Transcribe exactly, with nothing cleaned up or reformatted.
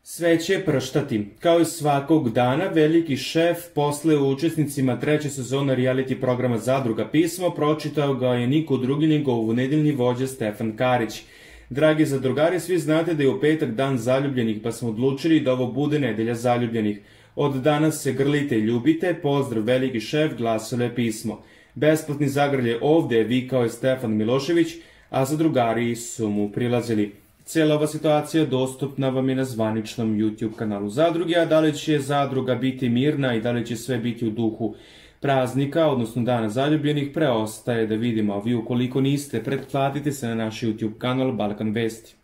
Sve će prštati. Kao i svakog dana, veliki šef posle učesnicima treće sezone reality programa Zadruga pismo pročitao ga je niko drugi nego ovonedeljni vođa Stefan Karić. Dragi zadrugari, svi znate da je u petak dan zaljubljenih, pa smo odlučili da ovo bude nedelja zaljubljenih. Od danas se grlite i ljubite, pozdrav veliki šef, glasilo je pismo. Besplatni zagrlje ovde je vikao je Stefan Milošević, a zadrugari su mu prilazili. Cijela ova situacija dostupna vam je na zvaničnom YouTube kanalu Zadruge, a da li će Zadruga biti mirna i da li će sve biti u duhu praznika, odnosno dana zaljubljenih, preostaje da vidimo, a vi ukoliko niste, pretplatite se na naš YouTube kanal Balkan Vesti.